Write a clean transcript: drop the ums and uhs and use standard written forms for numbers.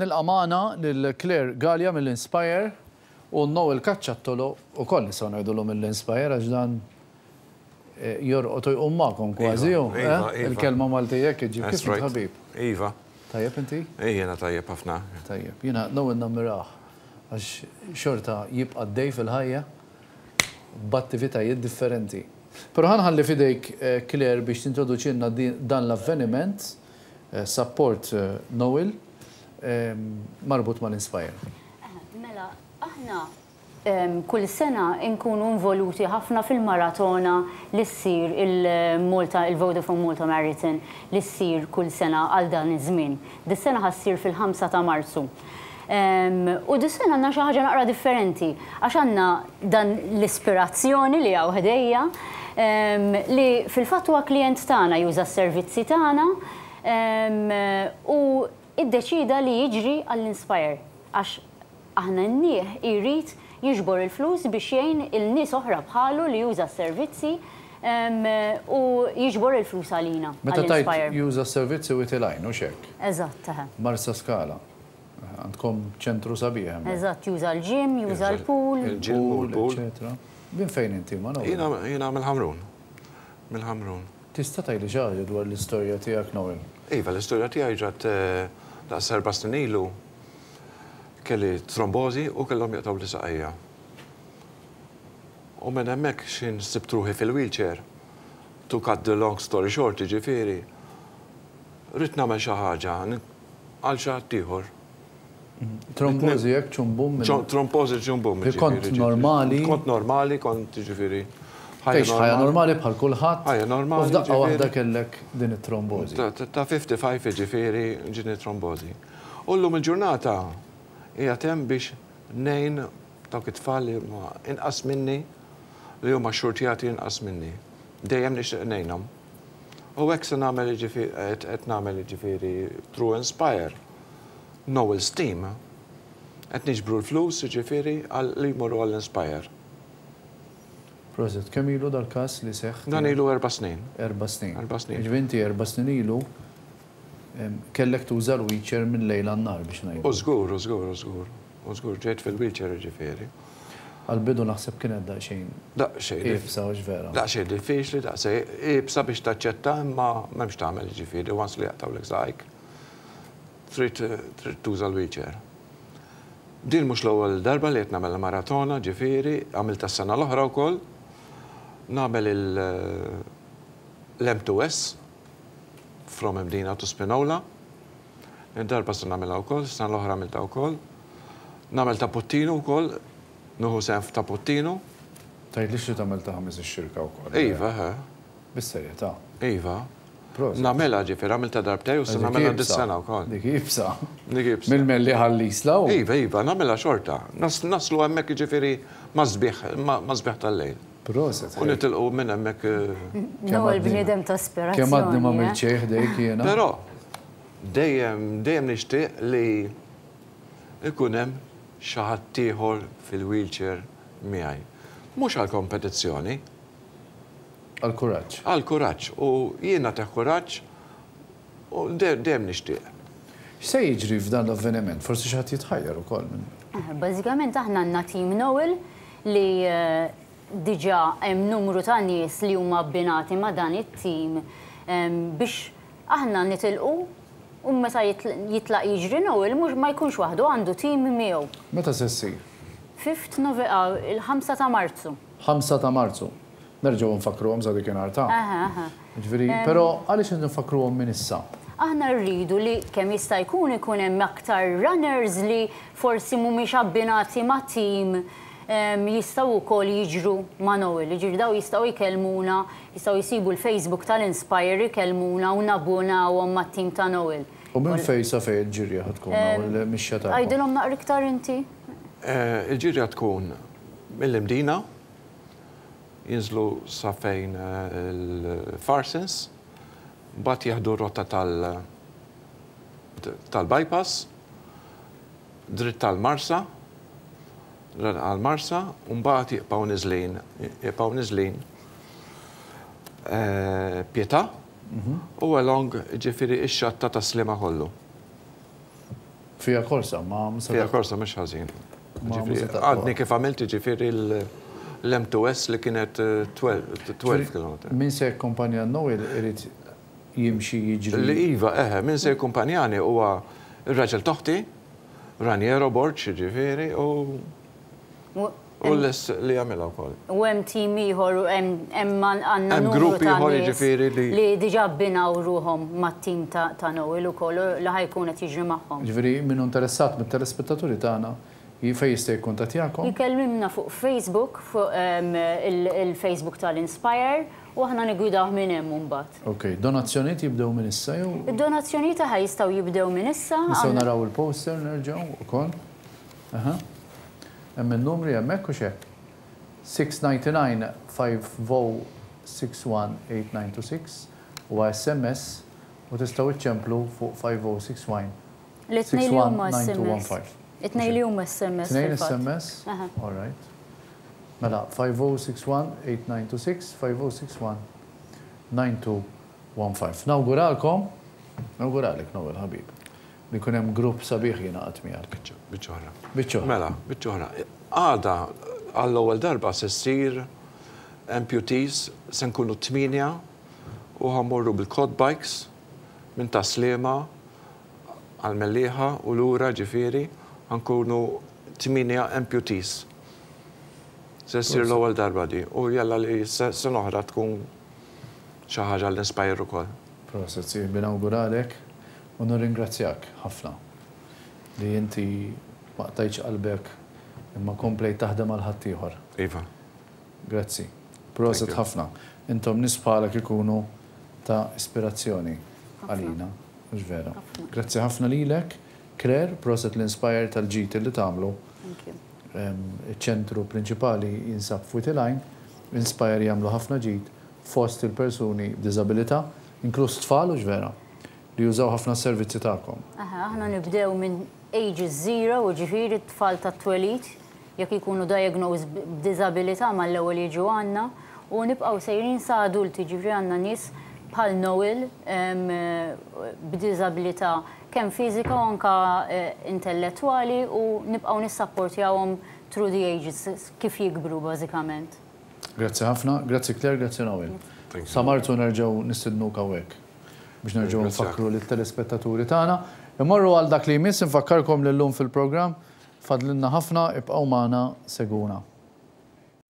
Nilqa' magħna lil Claire Galea mill-Inspire u Noel Cacciattolo ukoll nistgħu ngħidulu mill-Inspire għax dan jorqod u jqum magħkom kważi hu, eh? Il-kelma Maltija hekk iġġib. Kif int ħabib? Iva. Tajjeb inti? Jiena tajjeb ħafna. Tajjeb. Jiena Noel nammirah għax xorta jibqa' għaddej fil-ħajja b'attivitajiet differenti. Però ħa nħalli f'idejk Claire biex tintroduċilna dan l-avveniment Support Noel marbut mal-Inspire. Mela, aħna kull sena nkunu involuti ħafna fil-maratona li ssir il-Malta, il-Vodafone Malta Marathon li ssir kull sena għal dan iż-żmien. Dis-sena ħa ssir fil-5 ta' Marzu. U dis-sena għandna xi ħaġa naqra differenti għax għandna dan l-ispirazzjoni li hawn ħdejja li fil-fatt huwa klijent tagħna juża s-servizzi tagħna u iddeċieda li jiġri għall-Inspire għax aħna għennieh jrid jiġbor il-flus biex jgħin il-nies oħra bħalu li juża s-servizzi u jiġbor il-flus għalina, Meta tgħid juża s-servizzi Wied il-Għajn, hux hekk? Eżatt, eħe. Marsaskala. Għandkom ċentru sabiħ hemmhekk. Eżatt, juża l-gym, juża l-pool. Il-gym u l-pool. Eċċetera. Minn fejn inti, Manolo? Jiena mill-Ħamrun. Mill-Ħamrun. Tista' tgħidli xi ħaġa dwar l-istorja tiegħek, Noel? Iva, l-istorja tiegħi ġrat daqs erba' snin ilu. Kelli trombożi u kellhom jaqtgħuli saqajja. U minn hemmhekk x'ħin sibt ruħi fil-wheelchair, to cut the long story short, jiġifieri, ridt nagħmel xi ħaġa, għal xi ħadd ieħor. Trombożi hekk ċumbum minn. Trombożi ċumbum. Li kont normali. Kont normali, kont jiġifieri. Tgħix ħajja normali bħal kulħadd. Ħajja normali. U f'daqqa waħda kellek din it-trombożi. Ta' 55 jiġifieri ġietni trombożi. U llum il-ġurnata qiegħed hemm biex ngħin dawk it-tfal li huma inqas minni, li huma xxurtjati inqas minni. Dejjem nixtieq ngħinhom. U hekk se nagħmel jiġifieri qed nagħmel jiġifieri through Inspire, Noel's Team, qed niġbru l-flus jiġifieri għal li jmorru għall-Inspire. Prosit. Kemm ilu dal-każ li seħħ? Dan ilu erba' snin. Erba' snin. Erba' snin. Jiġifieri inti erba' snin ilu kellek tuża l-wheelchair minn lejl għan-nhar biex ngħidu. U żgur, u żgur, u żgur. U żgur ġejt fil-wheelchair jiġifieri. Għall-bidu naħseb kienet daqsxejn. Daqsxejn. Iebsa hux vera? Daqsxejn diffiċli, daqsxejn iebsa biex taċċetta imma m'hemmx tagħmel jiġifieri once li jaqtgħulek saqajk trid trid tuża l-wheelchair. Din mhux l-ewwel darba li qed nagħmel il-maratona ġifieri, għamiltha s-sena l-oħra wkoll. Nagħmel il l-M2S from Mdina to Spinola. Id-darba se nagħmilha wkoll, is-sena l-oħra għamiltha wkoll. Nagħmel ta' Puttinu wkoll, nieħu sehem f'ta' Puttinu. Tgħidlix li tagħmel ta' Ħamis ix-Xirka wkoll. Iva, eħe. Bis-serjetà? Iva. Prosit. Nagħmilha ġifieri, għamiltha darbtejn u se nagħmilha dis-sena wkoll. Dik iebsa. Dik iebsa. Mill-Mellieħa għall-Isla u. Iva, iva, nagħmilha xorta. Naslu hemmhekk jiġifieri mas-sbieħ, mas-sbieħ tal-lejl. Proset. U nitilqu minn hemmhekk. Noel bniedem ta' ispirazzjoni. Kemm għadni m'għamilt xejn ħdejk jiena. Però dejjem, dejjem nixtieq li jkun hemm xi ħadd ieħor fil-wheelchair miegħi. Mhux għall-kompetizzjoni. Għall-kuraġġ. Għall-kuraġġ. U jien nagħtih kuraġġ u dejjem nixtieq. X'se jiġri f'dan l-avveniment? Forsi xi ħadd jitħajjar ukoll minn. Bażikament aħna għandna Team Noel li diġà hemm numru ta' nies li huma abbinati ma' dan it-tim biex aħna nitilqu u meta jitlaq jiġri Noel mhux ma jkunx waħdu għandu tim miegħu. Meta se ssir? Fifth Nove il-ħamsa ta' Marzu. Ħamsa ta' Marzu. Nerġgħu nfakkruhom sa dikinhar ta'. Aha, aha. Jiġifieri, però għaliex qed nfakkruhom minn issa? Aħna rridu li kemm jista' jkun ikun hemm aktar runners li forsi mhumiex abbinati ma' team jistgħu wkoll jiġru ma' Noel. Jiġifieri dawn jistgħu jkellmuna, jistgħu jsibu l-Facebook tal-Inspire ikellmuna u nabbunawhom mat-team ta' Noel. U minn fejn sa fejn il-ġirja ħa tkun hawn il-mixja tagħkom? Għidilhom naqra iktar inti. Il-ġirja tkun mill-Imdina, jinżlu sa fejn il-Farsons, mbagħad jieħdu r-rotta tal-bypass, dritt għall-Marsa, għall-Marsa, u mbagħad jibqgħu niżlin, jibqgħu niżlin Pietà u along ġifieri x-xatt ta' Tas-Sliema kollu. Fija korsa, ma Fija korsa mhux ħażin. Għadni kif għamilt ġifieri l-M2S li kienet 12 km. Min se jakkumpanja Noel irid jimxi jiġri. Li iva, eħe, min se jakkumpanjani huwa ir-raġel t'oħti, Raniero Borg, ġifieri, u u lest li jagħmilha wkoll. U hemm tim ieħor u hemm għandna Hemm numru grupp ta' ieħor nies jiġifieri li li diġà abbinaw ruħhom mat-tim ta' Noel ukoll u li ħa jkun qed jiġri magħhom. Ġifieri min hu interessat mit-telespettaturi tagħna fejn jista' jikkuntattjakom? Jkellimna fuq Facebook, fuq il-Facebook tal-Inspire u aħna niggwidawh minn hemm imbagħad. Ok, donazzjonijiet jibdew minn issa jew? Id-donazzjonijiet aħa jistgħu jibdew minn issa. Nistgħu naraw il-poster nerġgħu ukoll. Aha. Hemm in-numri hemmhekk u x'hekk. 699 50 61 8926 huwa SMS u tistgħu iċċemplu fuq 5061 L-itnej li huma SMS. 619215. It-tnejn li huma SMS. Tnejn fil-fatt. SMS? Aha. All right. Mela 5061 8926 5061 9215. Nawguralkom, nawguralek Noel ħabib, li jkun hemm grupp sabiħ jingħaqad miegħek. Biċċa oħra. Biċċa oħra. Mela, biċċa oħra. Għada għall-ewwel darba se ssir amputees se nkunu tmienja u ħa mmorru bil-quad bikes minn Tas-Sliema għall-Mellieħa u lura ġifieri ħa nkunu tmienja amputees. Se ssir l-ewwel darba di u jalla li sena oħra tkun xi ħaġa l-Inspire ukoll. Proset, sieħbi nawguralek u nirringrazzjak ħafna li inti ma qtajtx qalbek imma komplejt taħdem għal ħaddieħor. Iva. Grazzi. Proset Thank you. ħafna. Intom nies bħalek ikunu ta' ispirazzjoni għalina. Mhux vera. Grazzi ħafna lilek, Claire, proset l-Inspire tal-ġid li tagħmlu. Thank you. Iċ-ċentru prinċipali jinsab f'Wied il-Għajn, Inspire jagħmlu ħafna ġid fost il-persuni b'diżabilità, inkluż tfal u vera, li jużaw ħafna servizzi tagħkom. Aha, aħna nibdew minn ages zero, u ġifieri t-tfal tat-twelid, jekk ikunu diagnosed b'diżabilità mal-ewwel jiġu għandna, u nibqgħu sejrin sa adulti, ġifieri għandna nies bħal Noel b'diżabilità kemm fiżika u anka intellettwali u nibqgħu nissapportjawhom through the ages kif jikbru bażikament. Grazzi ħafna, grazzi Claire, grazzi Noel. Thank you. Sa Marzu nerġgħu nistednuk hawnhekk biex nerġgħu Ringrazzjak. nfakru lit-telespettaturi tagħna. Immorru għal dak li jmiss, infakkarkom li llum fil-programm fadlinna ħafna, ibqgħu magħna seguna.